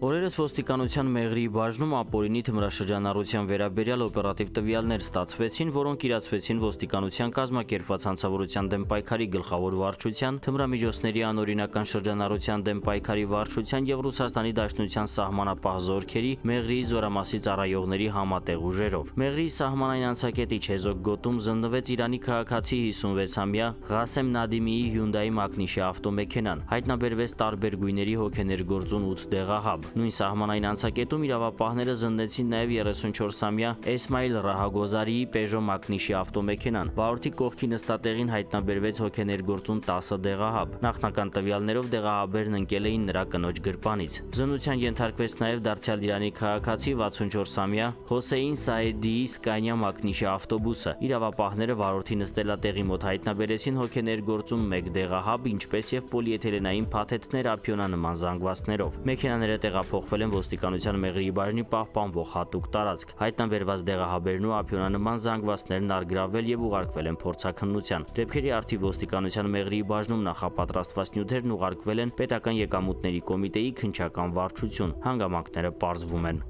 Օրերս ոստիկանության Մեղրիի բաժնում ապօրինի թմրաշրջանառության վերաբերյալ օպերատիվ տվյալներ ստացվեցին, որոնք իրացվեցին ոստիկանության կազմակերպված հանցավորության դեմ պայքարի գլխավոր վարչության, թմրամիջոցների անօրինական շրջանառության դեմ պայքարի վարչության եւ Ռուսաստանի Դաշնության սահմանապահ զորքերի Մեղրիի զորամասի ծառայողների համատեղ ուժերով։ Մեղրիի սահմանային անցակետի Չեզոք գոտում զննվեց Իրանի քաղաքացի 56-ամյա Ղասեմ Նադիմիի Hyundai մակնիշի ավտոմեքենան։ Հայտնաբերվեց տարբեր գույների հոգեներգործուն 8 դեղահաբ։ Նույն սահմանային անցակետում իրավապահները զննեցին նաև 34-ամյա Էսմայիլ Ռահագոզարիի Peugeot մակնիշի ավտոմեքենան։ Վարորդի կողքի նստատեղին հայտնաբերվեց հոգեներգործուն 10 դեղահաբ։ Նախնական տվյալներով դեղահաբերն ընկել էին նրա կնոջ գրպանից։ Զննության ենթարկվեց նաև դարձյալ Իրանի քաղաքացի 64-ամյա Հոսեյն Սաեդիի Scania մակնիշի ավտոբուսը։ Իրավապահները վարորդի նստելատեղի մոտ հայտնաբերեցին հոգեներգործուն 1 դեղահաբ, ինչպես եւ պոլիէթիլենային փաթեթներ ափիոնանման զանգվածներով։ Մեքենաները տեղափոխվել են ոստիկանության Մեղրիի բաժնի պահպանվող հատուկ տարածք։ Հայտնաբերված դեղահաբերն ու ափիոնանման զանգվածներն առգրավվել եւ ուղարկվել են փորձաքննության։ Դեպքերի առթիվ ոստիկանության Մեղրիի բաժնում նախապատրաստված նյութերն ուղարկվել են պետական եկամուտների կոմիտեի քննչական վարչություն։ Հանգամանքները պարզվում են։